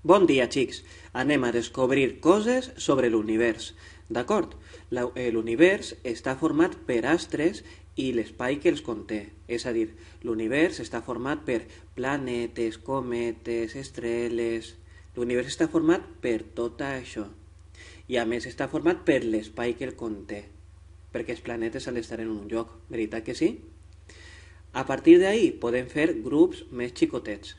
Bon dia, xics. Anem a descobrir coses sobre l'univers. D'acord? L'univers està format per astres i l'espai que els conté. És a dir, l'univers està format per planetes, cometes, estrelles... L'univers està format per tot això. I a més està format per l'espai que el conté. Perquè els planetes han d'estar en un lloc. Veritat que sí? A partir d'ahí podem fer grups més xicotets.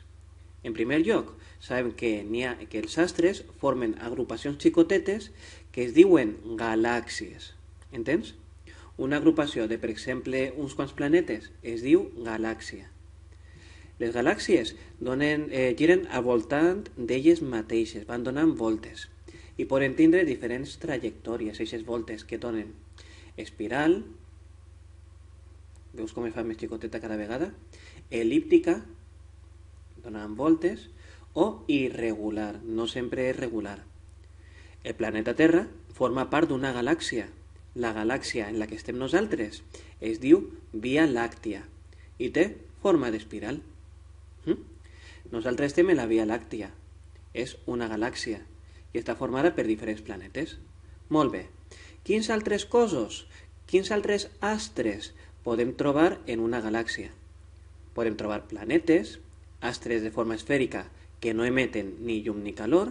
En primer lloc, sabem que els astres formen agrupacions xicotetes que es diuen galàxies. Entens? Una agrupació de, per exemple, uns quants planetes es diu galàxia. Les galàxies giren al voltant d'elles mateixes, van donant voltes i poden tindre diferents trajectòries, aquestes voltes que donen espiral, veus com es fa més xicoteta cada vegada, el·líptica, donant voltes, o irregular, no sempre és regular. El planeta Terra forma part d'una galàxia. La galàxia en la que estem nosaltres es diu Via Làctia i té forma d'espiral. Nosaltres estem en la Via Làctia. És una galàxia i està formada per diferents planetes. Molt bé. Quins altres cossos, quins altres astres podem trobar en una galàxia? Podem trobar planetes, astres de forma esfèrica que no emeten ni llum ni calor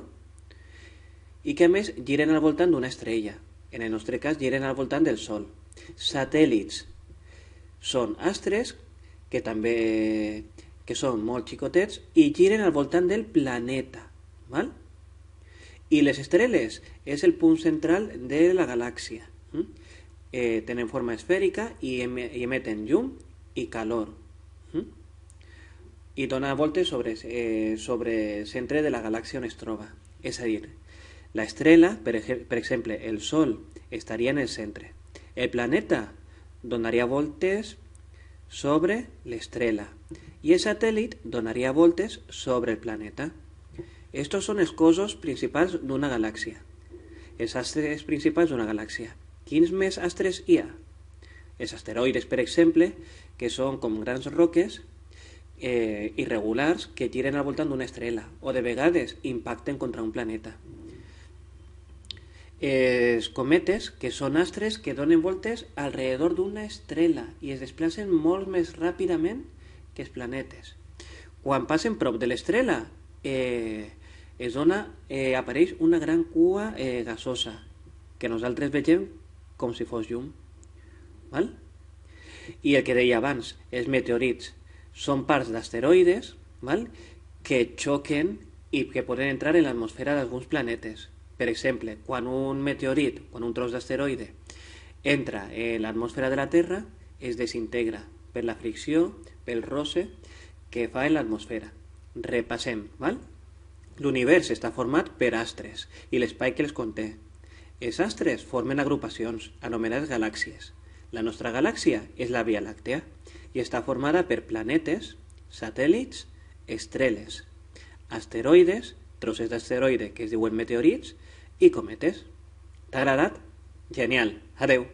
i que a més giren al voltant d'una estrella. En el nostre cas giren al voltant del Sol. Satèl·lits són astres que són molt xicotets i giren al voltant del planeta. Val? I les estrelles és el punt central de la galàxia. Tenen forma esfèrica i emeten llum i calor. I dona voltes sobre el centre de la galàxia on es troba. És a dir, l'estrella, per exemple, el Sol, estaria en el centre. El planeta donaria voltes sobre l'estrella i el satèl·lit donaria voltes sobre el planeta. Estos són els cossos principals d'una galàxia. Els astres principals d'una galàxia. Quins més astres hi ha? Els asteroides, per exemple, que són com grans roques irregulars que giren al voltant d'una estrella o de vegades impacten contra un planeta. Els cometes, que són astres que donen voltes alrededor d'una estrella i es desplacen molt més ràpidament que els planetes. Quan passen prop de l'estrella apareix una gran cua gasosa que nosaltres vegem com si fos llum. Val? I el que deia abans, els meteorits són parts d'asteroides, val? Que xoquen i que poden entrar en l'atmosfera d'alguns planetes. Per exemple, quan un tros d'asteroide entra en l'atmosfera de la Terra, es desintegra per la fricció, pel roce que fa en l'atmosfera. Repassem, val? L'univers està format per astres i l'espai que els conté. Els astres formen agrupacions, anomenades galàxies. La nostra galàxia és la Via Làctea i està formada per planetes, satèl·lits, estrelles, asteroides, trossos d'asteroide que es diuen meteorits i cometes. T'ha agradat? Genial! Adeu!